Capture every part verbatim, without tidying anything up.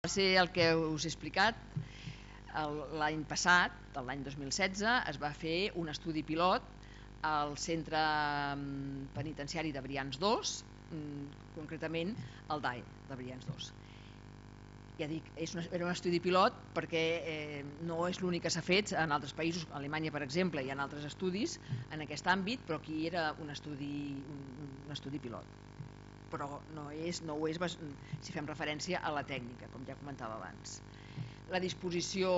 Va ser el que us he explicat. L'any passat, l'any dos mil setze, es va fer un estudi pilot al centre penitenciari de Brians dos, concretament al D A E de Brians dos. Ja dic, era un estudi pilot perquè no és l'únic que s'ha fet en altres països. A Alemanya, per exemple, hi ha altres estudis en aquest àmbit, però aquí era un estudi, un estudi pilot. Però no, és, no ho és si fem referència a la tècnica, com ja comentava abans. La disposició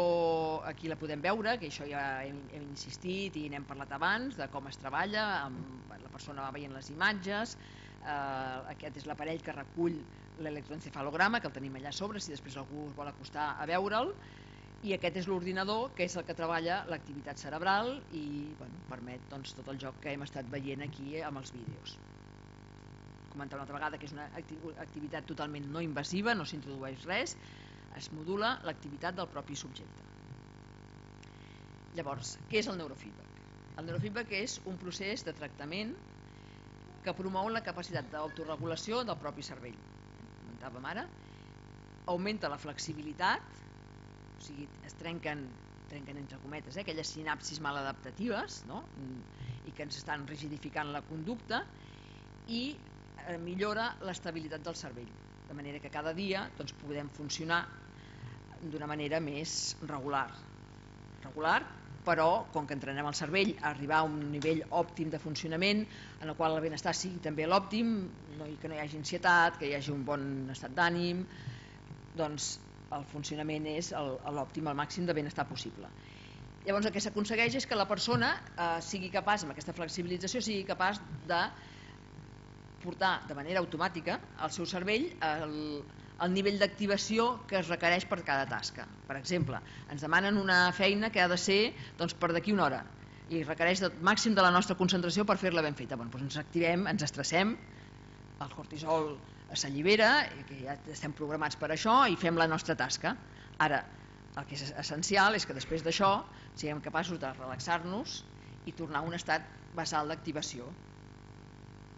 aquí la podem veure, que això ja hem, hem insistit i n'hem parlat abans, de com es treballa, amb, la persona va veient les imatges, eh, aquest és l'aparell que recull l'electroencefalograma, que el tenim allà a sobre, si després algú es vol acostar a veure'l, i aquest és l'ordinador, que és el que treballa l'activitat cerebral i bueno, permet doncs, tot el joc que hem estat veient aquí amb els vídeos. Comentar una altra vegada que és una activitat totalment no invasiva, no s'introdueix res, es modula l'activitat del propi subjecte. Llavors, què és el neurofeedback? El neurofeedback és un procés de tractament que promou la capacitat d'autoregulació del propi cervell. Comentàvem ara, augmenta la flexibilitat, o sigui, es trenquen, trenquen entre cometes, eh, aquelles sinapsis maladaptatives, no? I que ens estan rigidificant la conducta, i eh, millora l'estabilitat del cervell, de manera que cada dia doncs, podem funcionar d'una manera més regular. Regular, però, com que entrenem el cervell a arribar a un nivell òptim de funcionament, en el qual el benestar sigui també l'òptim, no, que no hi hagi ansietat, que hi hagi un bon estat d'ànim, doncs el funcionament és l'òptim, el màxim de benestar possible. Llavors el que s'aconsegueix és que la persona eh, sigui capaç, amb aquesta flexibilització, sigui capaç de portar de manera automàtica al seu cervell el, el nivell d'activació que es requereix per cada tasca. Per exemple, ens demanen una feina que ha de ser doncs, per d'aquí una hora i requereix el màxim de la nostra concentració per fer-la ben feta. Bueno, doncs ens activem, ens estressem, el cortisol s'allibera, que ja estem programats per això, i fem la nostra tasca. Ara, el que és essencial és que després d'això siguem capaços de relaxar-nos i tornar a un estat basal d'activació,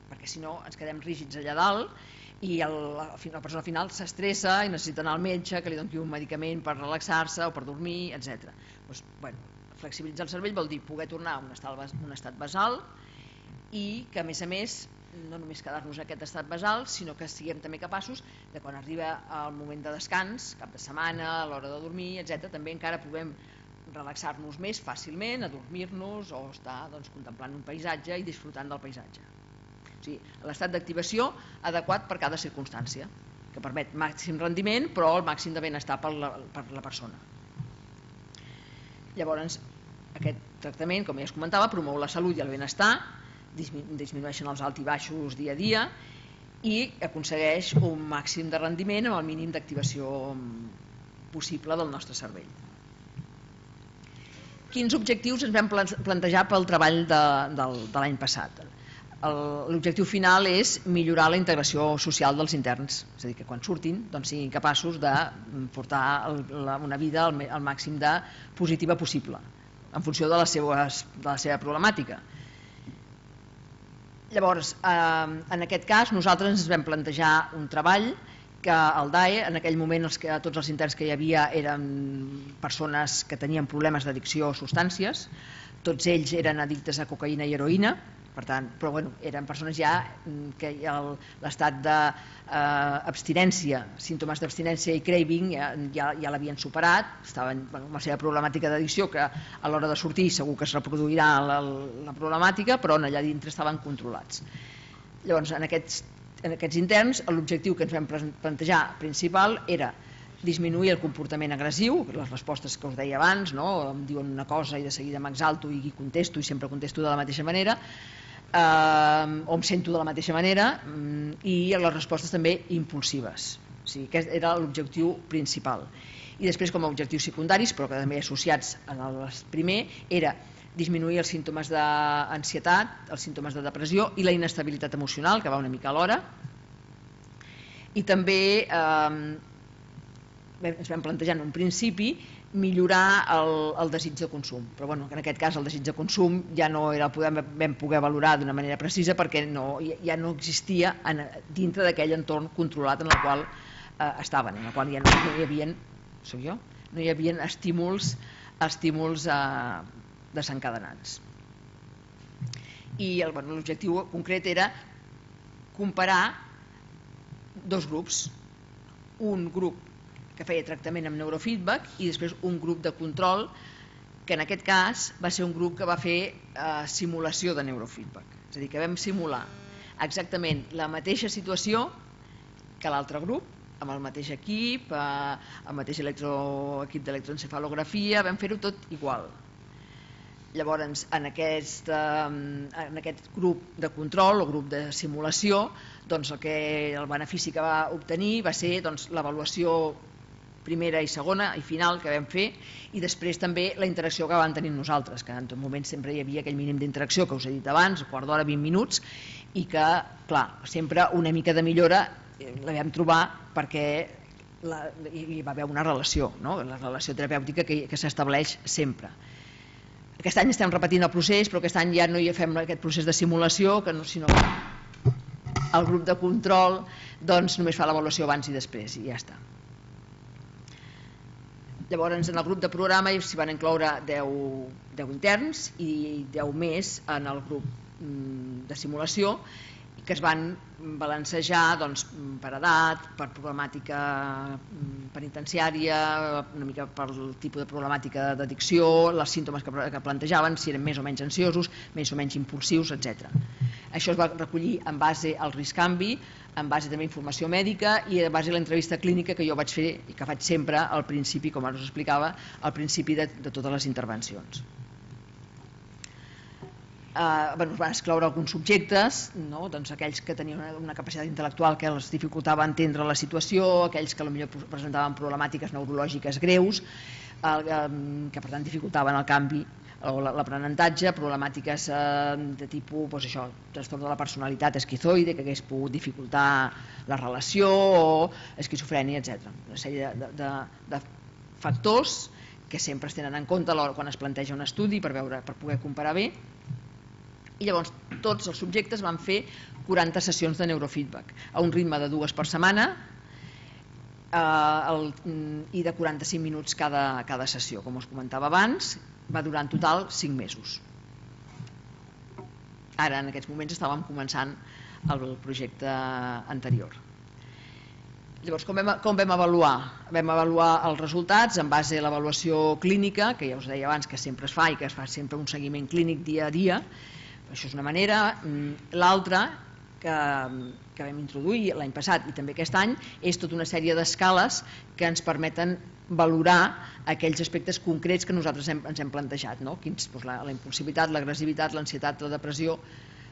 perquè si no ens quedem rígids allà dalt i el, la persona final s'estressa i necessita anar al metge que li doni un medicament per relaxar-se o per dormir, etcètera. Doncs, bueno, flexibilitzar el cervell vol dir poder tornar a un estat, un estat basal i que a més a més no només quedar-nos a aquest estat basal, sinó que siguem també capaços de quan arriba el moment de descans, cap de setmana, a l'hora de dormir, etcètera, també encara puguem relaxar-nos més fàcilment, adormir-nos o estar doncs, contemplant un paisatge i disfrutant del paisatge. O sigui, l'estat d'activació adequat per cada circumstància, que permet màxim rendiment però el màxim de benestar per la, per la persona. Llavors, aquest tractament, com ja es comentava, promou la salut i el benestar, disminueixen els alts i baixos dia a dia i aconsegueix un màxim de rendiment amb el mínim d'activació possible del nostre cervell. Quins objectius ens vam plantejar pel treball de, de, de l'any passat? L'objectiu final és millorar la integració social dels interns, és a dir, que quan surtin doncs, siguin capaços de portar una vida al màxim de positiva possible, en funció de, les seues, de la seva problemàtica. Llavors, eh, en aquest cas, nosaltres ens vam plantejar un treball que el D A E, en aquell moment els que, tots els interns que hi havia eren persones que tenien problemes d'addicció a substàncies, tots ells eren addictes a cocaïna i heroïna, per tant, però bueno, eren persones ja que l'estat d'abstinència, símptomes d'abstinència i craving ja, ja, ja l'havien superat, estaven bueno, amb la seva problemàtica d'addicció, que a l'hora de sortir segur que es reproduirà la, la problemàtica, però allà dintre estaven controlats. Llavors, en aquests, en aquests interns, l'objectiu que ens vam plantejar principal era disminuir el comportament agressiu, les respostes que us deia abans, no? Em diuen una cosa i de seguida m'exalto i contesto i sempre contesto de la mateixa manera, eh, o em sento de la mateixa manera, i les respostes també impulsives. O sigui, aquest era l'objectiu principal. I després, com a objectius secundaris, però que també associats en el primer, era disminuir els símptomes d'ansietat, els símptomes de depressió i la inestabilitat emocional, que va una mica alhora, i també eh, ens vam plantejar en un principi millorar el, el desig de consum, però bueno, en aquest cas el desig de consum ja no era el que vam poder valorar d'una manera precisa perquè no, ja no existia en, dintre d'aquell entorn controlat en el qual estaven, en la qual ja no hi havia, soc jo, no hi havia estímuls, estímuls desencadenants. I l'objectiu concret era comparar dos grups, un grup que feia tractament amb neurofeedback i després un grup de control, que en aquest cas va ser un grup que va fer simulació de neurofeedback. És a dir, que vam simular exactament la mateixa situació que l'altre grup, amb el mateix equip, el mateix equip d'electroencefalografia, vam fer-ho tot igual. Llavors, en aquest grup de control o grup de simulació, el benefici que va obtenir va ser l'avaluació primera i segona i final que vam fer, i després també la interacció que vam tenir nosaltres, que en tot moment sempre hi havia aquell mínim d'interacció que us he dit abans, quart d'hora, vint minuts, i que, clar, sempre una mica de millora la vam trobar perquè hi va haver una relació, la relació terapèutica que s'estableix sempre. Aquest any estem repetint el procés, però aquest any ja no hi fem aquest procés de simulació, sinó que el grup de control només fa l'avaluació abans i després, i ja està. Llavors, en el grup de programa s'hi van incloure deu interns i deu més en el grup de simulació, que es van balancejar per edat, per problemàtica penitenciària, una mica pel tipus de problemàtica d'addicció, els símptomes que plantejaven, si eren més o menys ansiosos, més o menys impulsius, etcètera. Això es va recollir en base al risc-canvi, en base també a informació mèdica i en base a l'entrevista clínica que jo vaig fer i que faig sempre al principi, com ara us explicava, al principi de totes les intervencions. Es van excloure alguns subjectes, aquells que tenien una capacitat intel·lectual que els dificultava entendre la situació, aquells que potser presentaven problemàtiques neurològiques greus, que per tant dificultaven el canvi o l'aprenentatge, problemàtiques de tipus trastorn de la personalitat esquizoide, que hagués pogut dificultar la relació, o esquizofrènia, etcètera. Una sèrie de factors que sempre es tenen en compte quan es planteja un estudi per poder comparar bé. I llavors tots els subjectes van fer quaranta sessions de neurofeedback a un ritme de dues per setmana i de quaranta-cinc minuts cada sessió. Com us comentava abans, va durar en total cinc mesos. Ara, en aquests moments, estàvem començant el projecte anterior. Llavors, com vam avaluar? Vam avaluar els resultats en base a l'avaluació clínica, que ja us deia abans que sempre es fa i que es fa sempre un seguiment clínic dia a dia. Això és una manera. L'altra, que vam introduir l'any passat i també aquest any, és tota una sèrie d'escales que ens permeten valorar aquells aspectes concrets que nosaltres ens hem plantejat, la impulsivitat, l'agressivitat, l'ansietat, la depressió,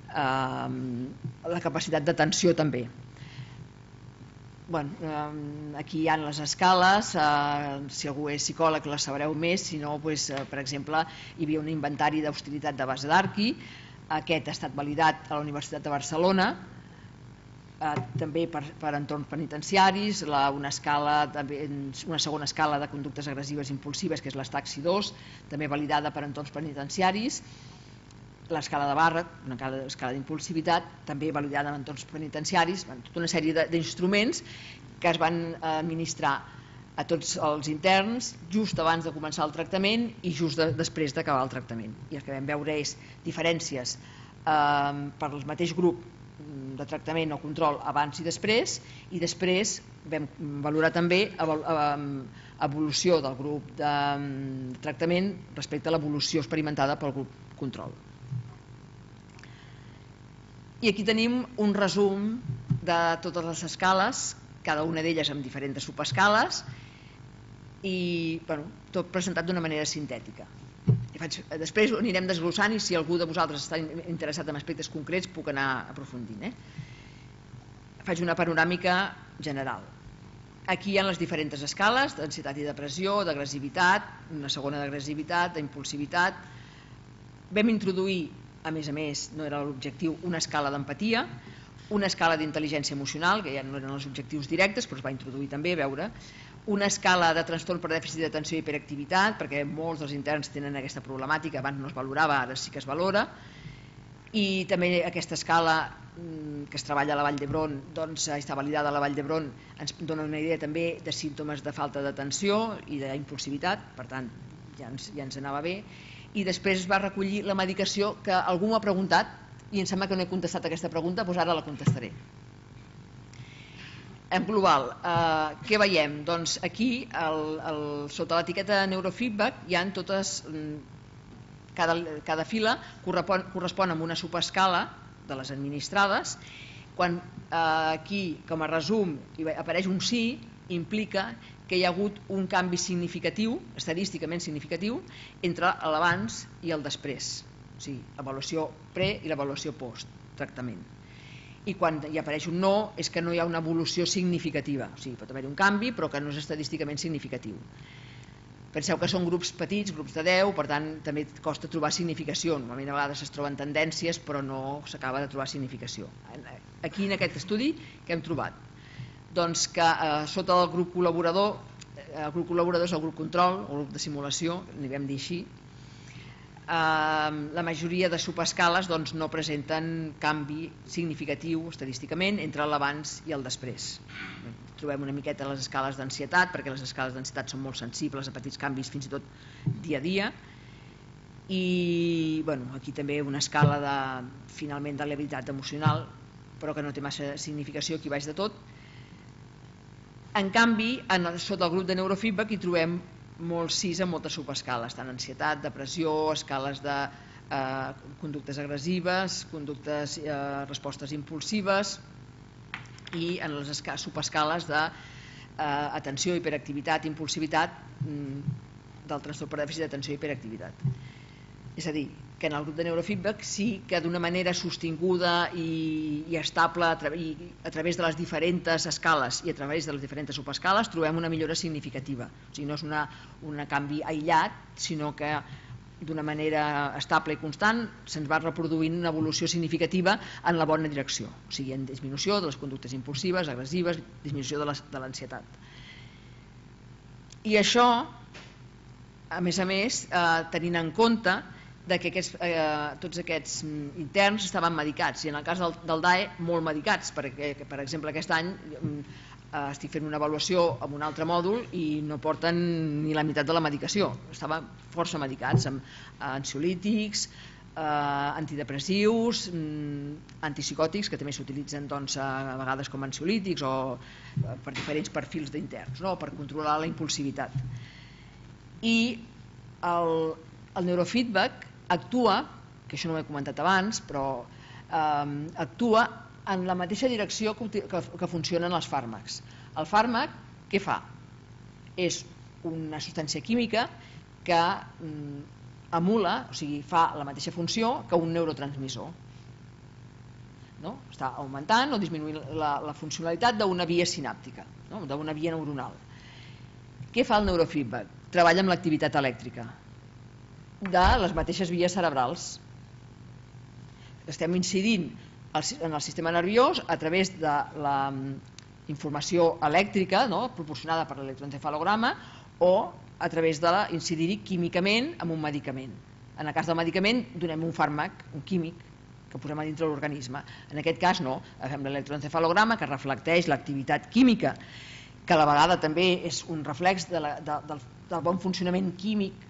la capacitat d'atenció també. Aquí hi ha les escales, si algú és psicòleg les sabreu més, si no, per exemple, hi havia un inventari d'hostilitat de base d'Arqui. Aquest ha estat validat a la Universitat de Barcelona, també per entorns penitenciaris, una segona escala de conductes agressives impulsives, que és l'Staxi dos, també validada per entorns penitenciaris, l'escala de Barrett, una escala d'impulsivitat, també validada en entorns penitenciaris, tota una sèrie d'instruments que es van administrar a tots els interns just abans de començar el tractament i just després d'acabar el tractament. I el que vam veure és diferències per al mateix grup de tractament o control abans i després, i després vam valorar també evolució del grup de tractament respecte a l'evolució experimentada pel grup control. I aquí tenim un resum de totes les escales, cada una d'elles amb diferents subescales, i tot presentat d'una manera sintètica. Després ho anirem desglossant i si algú de vosaltres està interessat en aspectes concrets puc anar aprofundint. Faig una panoràmica general. Aquí hi ha les diferents escales d'ansietat i depressió, d'agressivitat, una segona d'agressivitat, d'impulsivitat. Vam introduir, a més a més, no era l'objectiu, una escala d'empatia, una escala d'intel·ligència emocional, que ja no eren els objectius directes, però es va introduir també, a veure, una escala de trastorn per dèficit d'atenció i hiperactivitat, perquè molts dels interns tenen aquesta problemàtica, abans no es valorava, ara sí que es valora, i també aquesta escala que es treballa a la Vall d'Hebron, doncs està validada a la Vall d'Hebron, ens dona una idea també de símptomes de falta d'atenció i d'impulsivitat, per tant ja ens, ja ens anava bé. I després es va recollir la medicació, que algú m'ha preguntat i em sembla que no he contestat aquesta pregunta, doncs ara la contestaré. En global, eh, què veiem? Doncs aquí, el, el, sota l'etiqueta neurofeedback, hi ha totes, cada, cada fila correspon, correspon amb una subescala de les administrades. Quan eh, aquí, com a resum, apareix un sí, implica que hi ha hagut un canvi significatiu, estadísticament significatiu, entre l'abans i el després, o sigui, l'avaluació pre i l'avaluació post tractament. I quan hi apareix un no, és que no hi ha una evolució significativa, o sigui, pot haver-hi un canvi, però que no és estadísticament significatiu. Penseu que són grups petits, grups de deu, per tant, també costa trobar significació. Normalment a vegades es troben tendències, però no s'acaba de trobar significació. Aquí, en aquest estudi, què hem trobat? Doncs que eh, sota el grup col·laborador, el grup col·laborador és el grup control, el grup de simulació, n'hi vam dir així, eh, la majoria de subescales doncs, no presenten canvi significatiu estadísticament entre l'abans i el després. Trobem una miqueta les escales d'ansietat, perquè les escales d'ansietat són molt sensibles a petits canvis fins i tot dia a dia, i bueno, aquí també una escala de, finalment, de l'habilitat emocional, però que no té massa significació aquí baix de tot. En canvi, en, sota el grup de neurofeedback hi trobem molts sis en moltes subescales, tant ansietat, depressió, escales de eh, conductes agressives, conductes, eh, respostes impulsives, i en les subescales d'atenció, eh, hiperactivitat, impulsivitat, del trastorn per dèficit d'atenció i hiperactivitat. És a dir, que en el grup de neurofeedback sí que d'una manera sostinguda i, i estable a, tra i a través de les diferents escales i a través de les diferents subescales trobem una millora significativa. O sigui, no és una, un canvi aïllat, sinó que d'una manera estable i constant se'ns va reproduint una evolució significativa en la bona direcció. O sigui, en disminució de les conductes impulsives, agressives, disminució de l'ansietat. I això, a més a més, eh, tenint en compte de que aquests, eh, tots aquests interns estaven medicats, i en el cas del, del D A E molt medicats, perquè per exemple aquest any eh, estic fent una avaluació amb un altre mòdul i no porten ni la meitat de la medicació, estaven força medicats amb eh, ansiolítics, eh, antidepressius, mm, antipsicòtics, que també s'utilitzen doncs, a vegades com ansiolítics o eh, per diferents perfils d'interns, no? Per controlar la impulsivitat. I el, el neurofeedback actua, que això no ho he comentat abans, però eh, actua en la mateixa direcció que, que, que funcionen els fàrmacs. El fàrmac, què fa? És una substància química que mm, emula, o sigui, fa la mateixa funció que un neurotransmissor. No? Està augmentant o disminuint la, la funcionalitat d'una via sinàptica, no? D'una via neuronal. Què fa el neurofeedback? Treballa amb l'activitat elèctrica de les mateixes vies cerebrals. Estem incidint en el sistema nerviós a través de la informació elèctrica, no? Proporcionada per l'electroencefalograma, o a través d'incidir-hi químicament amb un medicament. En el cas del medicament donem un fàrmac, un químic, que posem a dintre l'organisme. En aquest cas no, agafem l'electroencefalograma que reflecteix l'activitat química, que a la vegada també és un reflex de la, de, del, del bon funcionament químic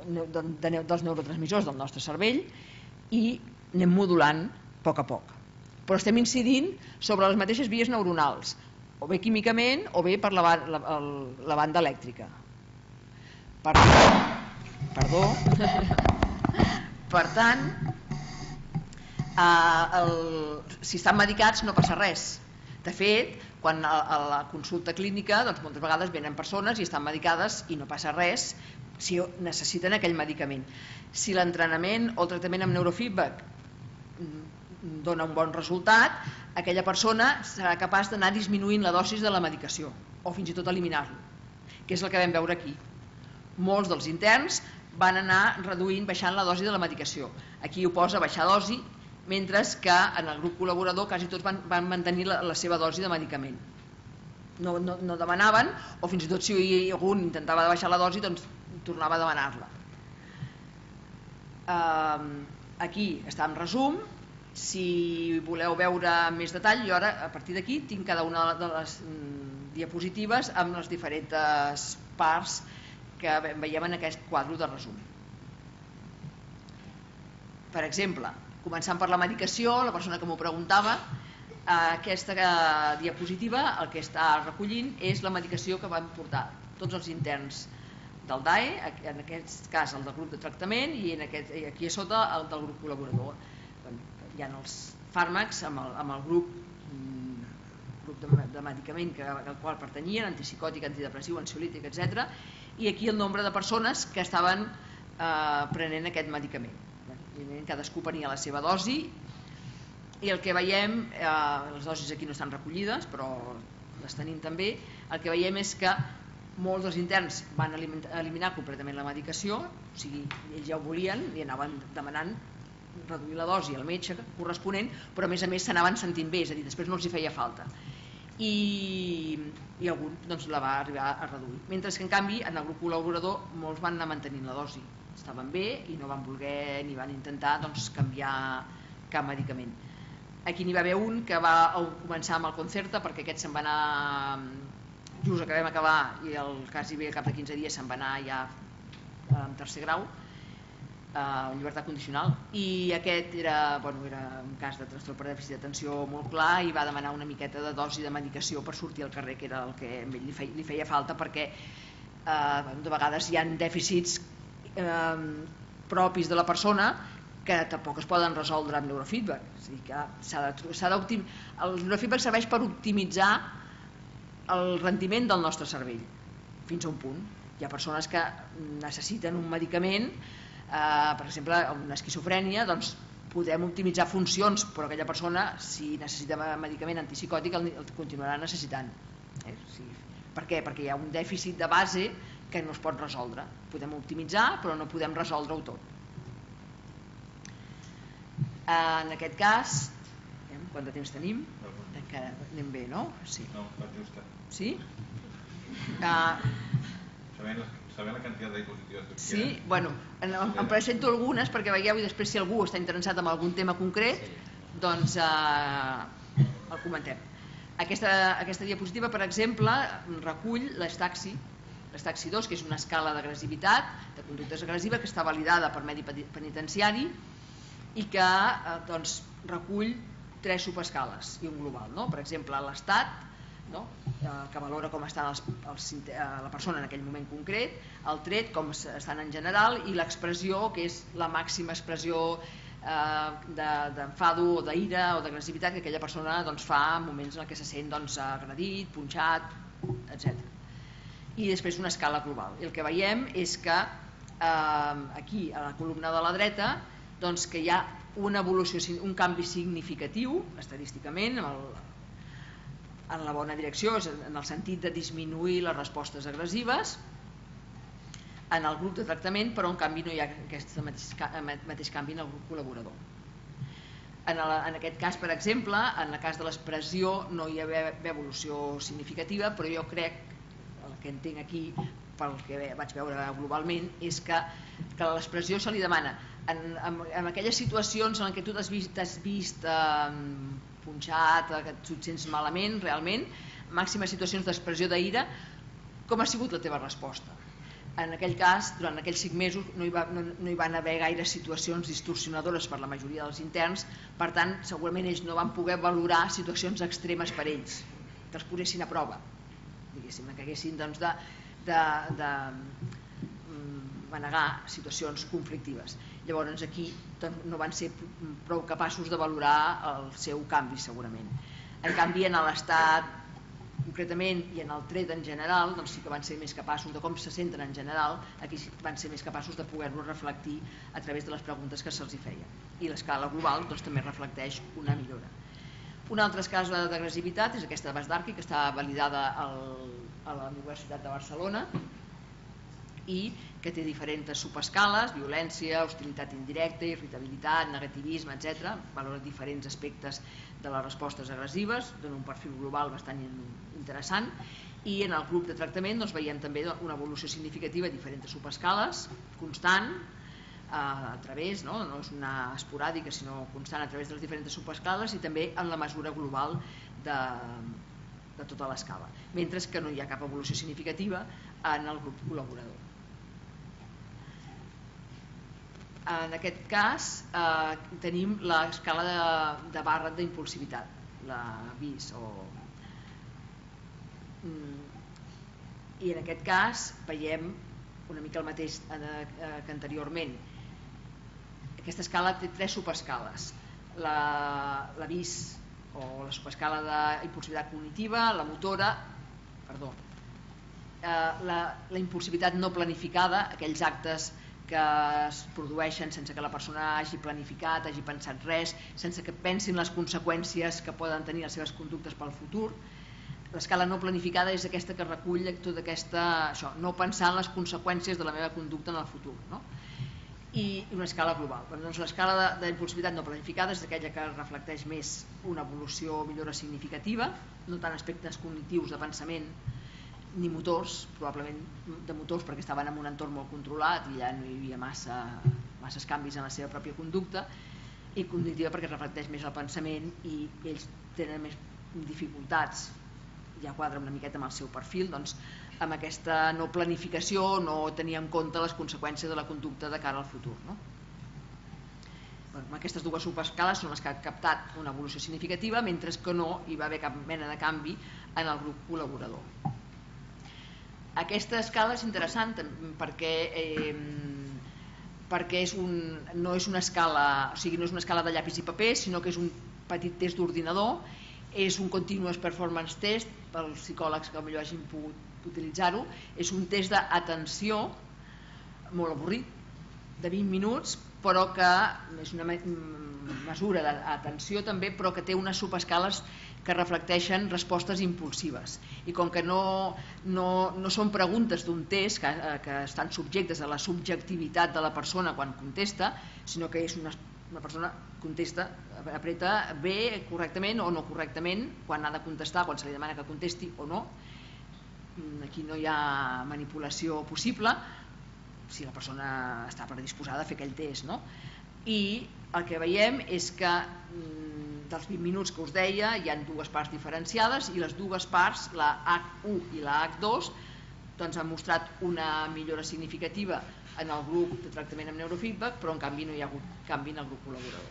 de, de, dels neurotransmissors del nostre cervell, i anem modulant a poc a poc. Però estem incidint sobre les mateixes vies neuronals, o bé químicament o bé per la, la, la banda elèctrica. Per, perdó. Per tant, eh, el, si estan medicats no passa res. De fet, quan a, a la consulta clínica doncs moltes vegades venen persones i estan medicades i no passa res si necessiten aquell medicament. Si l'entrenament o el tractament amb neurofeedback dona un bon resultat, aquella persona serà capaç d'anar disminuint la dosis de la medicació o fins i tot eliminar-lo, que és el que vam veure aquí. Molts dels interns van anar reduint, baixant la dosi de la medicació. Aquí ho posa baixar dosi, mentre que en el grup col·laborador quasi tots van, van mantenir la, la seva dosi de medicament. No, no, no demanaven, o fins i tot si algun intentava baixar la dosi, doncs tornava a demanar-la. Uh, aquí està en resum, Si voleu veure més detall, jo ara a partir d'aquí tinc cada una de les diapositives amb les diferents parts que veiem en aquest quadre de resum. Per exemple, començant per la medicació, la persona que m'ho preguntava, aquesta diapositiva el que està recollint és la medicació que van portar tots els interns del D A E, en aquest cas el del grup de tractament i aquí a sota el del grup col·laborador. Hi ha els fàrmacs amb el, amb el grup, grup de, de medicament que, al qual pertanyien, antipsicòtic, antidepressiu, ansiolític, etcètera. I aquí el nombre de persones que estaven eh, prenent aquest medicament. Cadascú prenia la seva dosi i el que veiem, eh, les dosis aquí no estan recollides, però les tenim també, el que veiem és que molts dels interns van eliminar completament la medicació, o sigui, ells ja ho volien i anaven demanant reduir la dosi al metge corresponent, però a més a més s'anaven sentint bé, és a dir, després no els hi feia falta i, i algun doncs, la va arribar a reduir, mentre que en canvi en el grup col·laborador molts van anar mantenint la dosi, estaven bé i no van voler ni van intentar doncs, canviar cap medicament. Aquí n'hi va haver un que va començar amb el Concerta perquè aquest se'n va anar just que vam acabar i el quasi bé al cap de quinze dies se'n va anar ja en tercer grau en llibertat condicional i aquest era, bueno, era un cas de trastorn per dèficit d'atenció molt clar i va demanar una miqueta de dosi de medicació per sortir al carrer, que era el que a ell li feia, li feia falta perquè eh, de vegades hi ha dèficits eh, propis de la persona que tampoc es poden resoldre amb neurofeedback, o sigui que s'ha de, el neurofeedback serveix per optimitzar el rendiment del nostre cervell fins a un punt. Hi ha persones que necessiten un medicament, eh, per exemple una esquizofrènia, doncs podem optimitzar funcions, però aquella persona si necessita medicament antipsicòtic el, el continuarà necessitant. Eh? Sí. Per què? Perquè hi ha un dèficit de base que no es pot resoldre. Podem optimitzar però no podem resoldre-ho tot. En aquest cas, quant de temps tenim? Encara anem bé, no? Sí. No, va justa. Sí? Uh, Sabent la quantitat de diapositives que sí, bueno, en, em presento algunes perquè veieu i després si algú està interessat en algun tema concret, doncs eh, el comentem. Aquesta, aquesta diapositiva, per exemple, recull l'Estaxi, l'Estaxi dos, que és una escala d'agressivitat, de conductes agressiva, que està validada per medi penitenciari i que eh, doncs, recull tres subescales i un global. No? Per exemple, l'estat, no? eh, que valora com està els, els, eh, la persona en aquell moment concret, el tret, com estan en general, i l'expressió, que és la màxima expressió eh, d'enfado o d'ira o d'agressivitat que aquella persona doncs, fa en moments en què se sent doncs, agredit, punxat, etcètera. I després una escala global. I el que veiem és que eh, aquí, a la columna de la dreta, doncs, que hi ha una evolució, un canvi significatiu estadísticament en, el, en la bona direcció, en el sentit de disminuir les respostes agressives en el grup de tractament, però en canvi no hi ha aquest mateix, mateix canvi en el grup col·laborador. En, el, en aquest cas, per exemple, en el cas de l'expressió no hi ha evolució significativa, però jo crec, el que entenc aquí pel que vaig veure globalment, és que, que l'expressió se li demana En, en, en aquelles situacions en què tu t'has vist, t'has vist eh, punxat, que et sents malament realment, màximes situacions d'expressió d'ira, com ha sigut la teva resposta? En aquell cas, durant aquells cinc mesos no hi, va, no, no hi van haver gaire situacions distorsionadores per la majoria dels interns, per tant segurament ells no van poder valorar situacions extremes per ells, que els posessin a prova, diguéssim, que haguessin doncs, de, de, de manegar situacions conflictives. Llavors aquí no van ser prou capaços de valorar el seu canvi segurament. En canvi en l'estat concretament i en el tret en general doncs sí que van ser més capaços de com se senten en general, aquí van ser més capaços de poder-lo reflectir a través de les preguntes que se'ls feia. I l'escala global doncs, també reflecteix una millora. Una altra escala d'agressivitat és aquesta de Basdarki, que està validada al, a la Universitat de Barcelona i que té diferents subescales, violència, hostilitat indirecta, irritabilitat, negativisme, etcètera. Valora diferents aspectes de les respostes agressives, dona un perfil global bastant interessant, i en el grup de tractament doncs, veiem també una evolució significativa, diferents subescales, constant, a través, no és una esporàdica sinó constant a través de les diferents subescales i també en la mesura global de, de tota l'escala, mentre que no hi ha cap evolució significativa en el grup col·laborador. En aquest cas eh, tenim l'escala de, de Barrett d'impulsivitat, la B I S, o, i en aquest cas veiem una mica el mateix que anteriorment. Aquesta escala té tres subescales, la, la B I S o la subescala d'impulsivitat cognitiva, la motora, perdó, eh, la, la impulsivitat no planificada, aquells actes que es produeixen sense que la persona hagi planificat, hagi pensat res, sense que pensin les conseqüències que poden tenir les seves conductes pel futur. L'escala no planificada és aquesta que recull tota aquesta, això, no pensar en les conseqüències de la meva conducta en el futur, no? I una escala global. Doncs l'escala d'impulsivitat no planificada és aquella que reflecteix més una evolució o millora significativa, no tant aspectes cognitius de pensament ni motors, probablement de motors perquè estaven en un entorn molt controlat i ja no hi havia massa, masses canvis en la seva pròpia conducta, i cognitiva perquè reflecteix més el pensament i ells tenen més dificultats, ja quadra una miqueta amb el seu perfil, doncs amb aquesta no planificació, no tenir en compte les conseqüències de la conducta de cara al futur, no? Bueno, aquestes dues subescales són les que han captat una evolució significativa, mentre que no hi va haver cap mena de canvi en el grup col·laborador. Aquesta escala és interessant perquè, eh, perquè és un, no és una escala, o sigui, no és una escala de llapis i paper, sinó que és un petit test d'ordinador, és un continuous performance test, pels psicòlegs que potser hagin pogut utilitzar-ho, és un test d'atenció molt avorrit, de vint minuts, però que és una mesura d'atenció també, però que té unes subescales que reflecteixen respostes impulsives. I com que no, no, no són preguntes d'un test que, que estan subjectes a la subjectivitat de la persona quan contesta, sinó que és una, una persona contesta, apreta bé correctament o no correctament quan ha de contestar, quan se li demana que contesti o no. Aquí no hi ha manipulació possible si la persona està predisposada a fer aquell test, no? I el que veiem és que dels vint minuts que us deia hi ha dues parts diferenciades i les dues parts, la hac u i la hac dos, doncs han mostrat una millora significativa en el grup de tractament amb neurofeedback, però en canvi no hi ha hagut canvi en el grup col·laborador.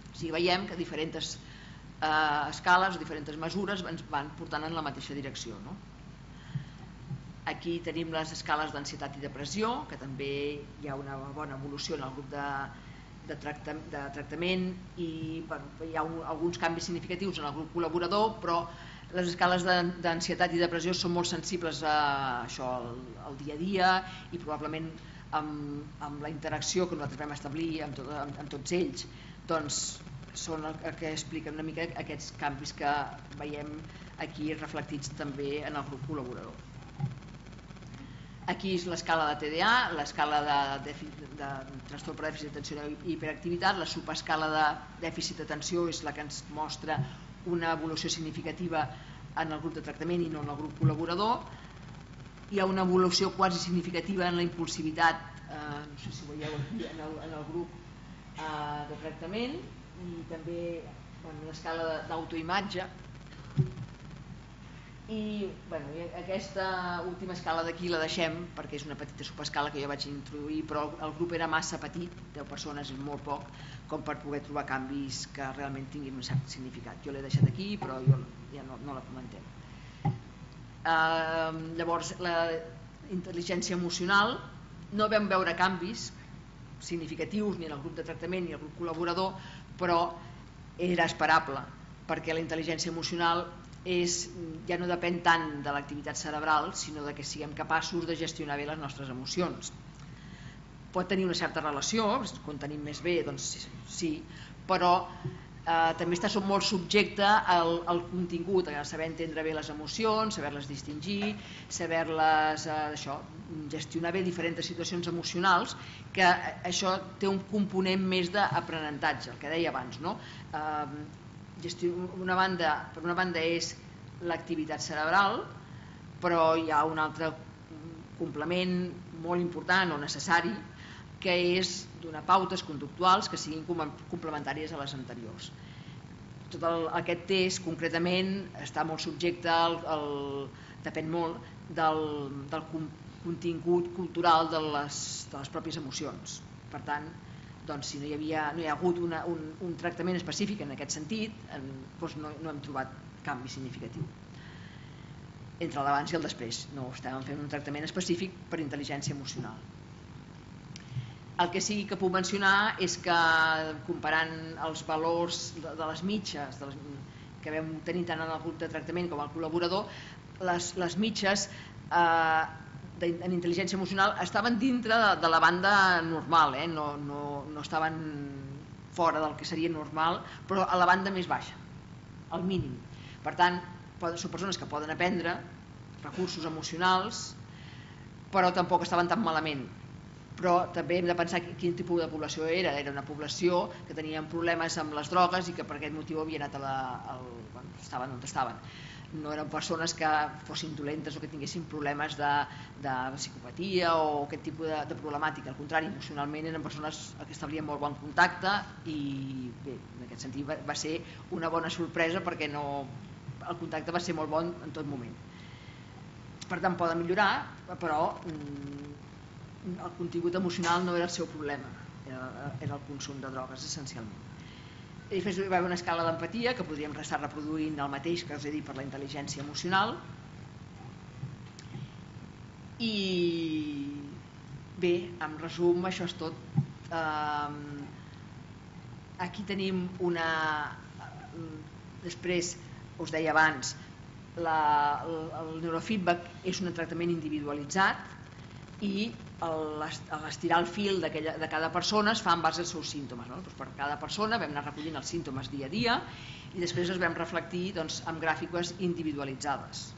O sigui, veiem que diferents eh, escales o diferents mesures ens van portant en la mateixa direcció, no? Aquí tenim les escales d'ansietat i depressió, que també hi ha una bona evolució en el grup de De, tracta, de tractament i bueno, hi ha un, alguns canvis significatius en el grup col·laborador, però les escales d'ansietat i depressió són molt sensibles a això al, al dia a dia i probablement amb, amb la interacció que nosaltres vam establir amb, tot, amb, amb tots ells, doncs són el, el que expliquen una mica aquests canvis que veiem aquí reflectits també en el grup col·laborador. Aquí és l'escala de T D A, l'escala de, de, de trastorn per dèficit d'atenció i hiperactivitat, la subescala de dèficit d'atenció és la que ens mostra una evolució significativa en el grup de tractament i no en el grup col·laborador. Hi ha una evolució quasi significativa en la impulsivitat, eh, no sé si ho veieu aquí, en el, en el grup eh, de tractament, i també bueno, l'escala d'autoimatge. I bueno, aquesta última escala d'aquí la deixem perquè és una petita subescala que jo vaig introduir, però el grup era massa petit, deu persones és molt poc, com per poder trobar canvis que realment tinguin un cert significat. Jo l'he deixat aquí, però jo ja no, no la comentem. Uh, llavors, la intel·ligència emocional, no vam veure canvis significatius ni en el grup de tractament ni en el grup col·laborador, però era esperable, perquè la intel·ligència emocional és, ja no depèn tant de l'activitat cerebral, sinó de que siguem capaços de gestionar bé les nostres emocions. Pot tenir una certa relació, quan tenim més bé, doncs sí, però eh, també està molt subjecte al, al contingut, a saber entendre bé les emocions, saber-les distingir, saber-les eh, això, gestionar bé diferents situacions emocionals, que això té un component més d'aprenentatge, el que deia abans, no? Eh, Una banda, per una banda és l'activitat cerebral, però hi ha un altre complement molt important o necessari que és donar pautes conductuals que siguin complementàries a les anteriors. Tot el, aquest test concretament està molt subjecte al, al, depèn molt del, del contingut cultural de les, de les pròpies emocions. Per tant, doncs, si no hi, havia, no hi ha hagut una, un, un tractament específic en aquest sentit, en, doncs no, no hem trobat canvi significatiu entre l'abans i el després. No estàvem fent un tractament específic per intel·ligència emocional. El que sí que puc mencionar és que comparant els valors de, de les mitges de les, que vam tenir tant en el grup de tractament com al col·laborador, les, les mitges eh, de, en intel·ligència emocional estaven dintre de, de la banda normal, eh? no, no, no estaven fora del que seria normal, però a la banda més baixa, al mínim. Per tant, són persones que poden aprendre recursos emocionals, però tampoc estaven tan malament. Però també hem de pensar quin tipus de població era. Era una població que tenien problemes amb les drogues i que per aquest motiu havien anat a la, al, bueno, estaven on estaven. No eren persones que fossin dolentes o que tinguessin problemes de, de psicopatia o aquest tipus de, de problemàtica. Al contrari, emocionalment eren persones que establien molt bon contacte i bé, en aquest sentit va, va ser una bona sorpresa perquè no, el contacte va ser molt bon en tot moment. Per tant, poden millorar, però el contingut emocional no era el seu problema, era, era el consum de drogues essencialment. I després hi va haver una escala d'empatia que podríem estar reproduint el mateix que us he dit per la intel·ligència emocional. I bé, en resum, això és tot. Aquí tenim una... Després, us deia abans, la, el neurofeedback és un tractament individualitzat i l'estirar el fil de cada persona es fa en base als seus símptomes. No? Doncs per cada persona vam anar recollint els símptomes dia a dia i després els vam reflectir doncs, amb gràfiques individualitzades.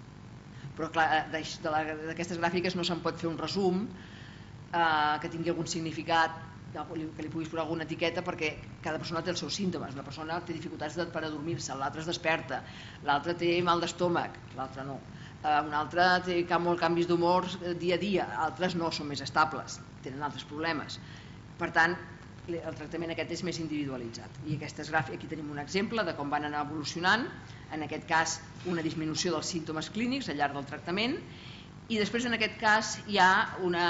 Però clar, d'aquestes gràfiques no se'n pot fer un resum eh, que tingui algun significat, que li puguis posar alguna etiqueta, perquè cada persona té els seus símptomes. Una persona té dificultats per adormir-se, l'altra es desperta, l'altra té mal d'estómac, l'altra no. Un altre té molts canvis d'humor dia a dia, altres no, són més estables, tenen altres problemes. Per tant, el tractament aquest és més individualitzat. I aquestes gràfiques, aquí tenim un exemple de com van anar evolucionant, en aquest cas una disminució dels símptomes clínics al llarg del tractament, i després en aquest cas hi ha una...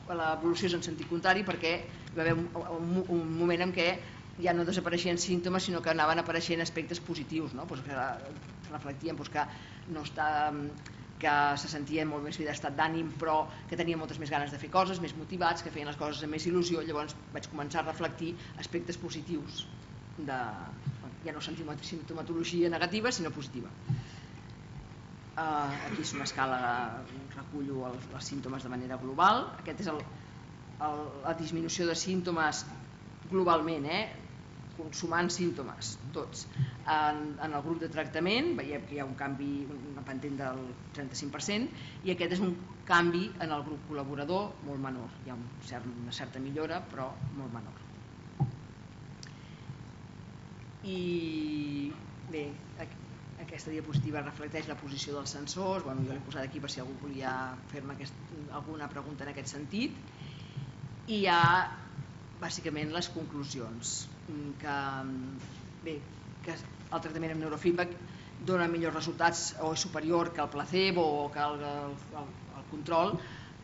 l'evolució és en sentit contrari perquè hi va haver un, un, un moment en què ja no desapareixien símptomes sinó que anaven apareixent aspectes positius, no? Pues que reflectien pues que no està, que se sentia molt més bé d'estat d'ànim però que tenia moltes més ganes de fer coses, més motivats, que feien les coses amb més il·lusió. Llavors vaig començar a reflectir aspectes positius de, ja no simptomatologia negativa sinó positiva. Uh, aquí és una escala, recullo els, els símptomes de manera global. Aquest és el, el, la disminució de símptomes globalment, eh? Consumant símptomes, tots. En, en el grup de tractament veiem que hi ha un canvi, una pendent del trenta-cinc per cent, i aquest és un canvi en el grup col·laborador molt menor. Hi ha un cert, una certa millora, però molt menor. I bé, aquí aquesta diapositiva reflecteix la posició dels sensors. Bueno, jo l'he posat aquí per si algú volia fer-me alguna pregunta en aquest sentit. I hi ha bàsicament les conclusions que, bé, que el tractament amb neurofeedback dona millors resultats o és superior que el placebo o que el, el, el control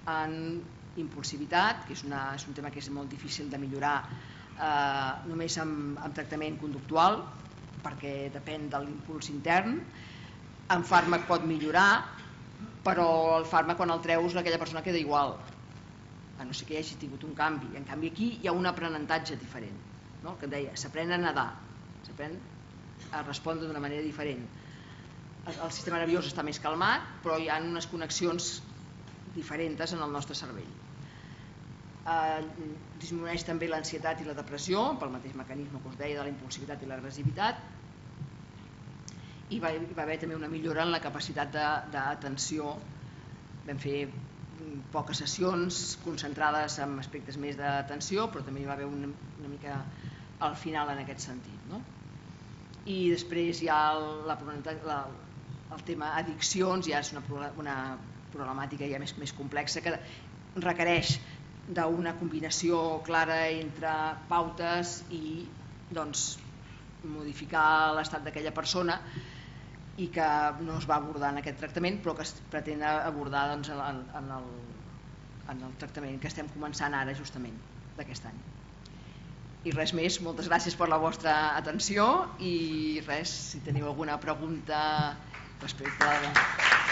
en impulsivitat, que és, una, és un tema que és molt difícil de millorar eh, només amb, amb tractament conductual, perquè depèn de l'impuls intern. En fàrmac pot millorar, però el fàrmac quan el treus aquella persona queda igual, a no ser que hi hagi tingut un canvi. En canvi aquí hi ha un aprenentatge diferent, no? Que deia, s'aprèn a nedar, s'aprèn a respondre d'una manera diferent. El sistema nerviós està més calmat, però hi ha unes connexions diferents en el nostre cervell. Eh, disminueix també l'ansietat i la depressió pel mateix mecanisme que us deia de la impulsivitat i l'agressivitat, i va, va haver també una millora en la capacitat d'atenció. Vam fer poques sessions concentrades en aspectes més d'atenció, però també hi va haver una, una mica al final en aquest sentit, no? I després hi ha la, la, el tema addiccions, ja és una, una problemàtica ja més, més complexa que requereix d'una combinació clara entre pautes i doncs, modificar l'estat d'aquella persona i que no es va abordar en aquest tractament però que es pretén abordar doncs, en, en, el, en el tractament que estem començant ara justament d'aquest any. I res més, moltes gràcies per la vostra atenció i res, si teniu alguna pregunta respecte a...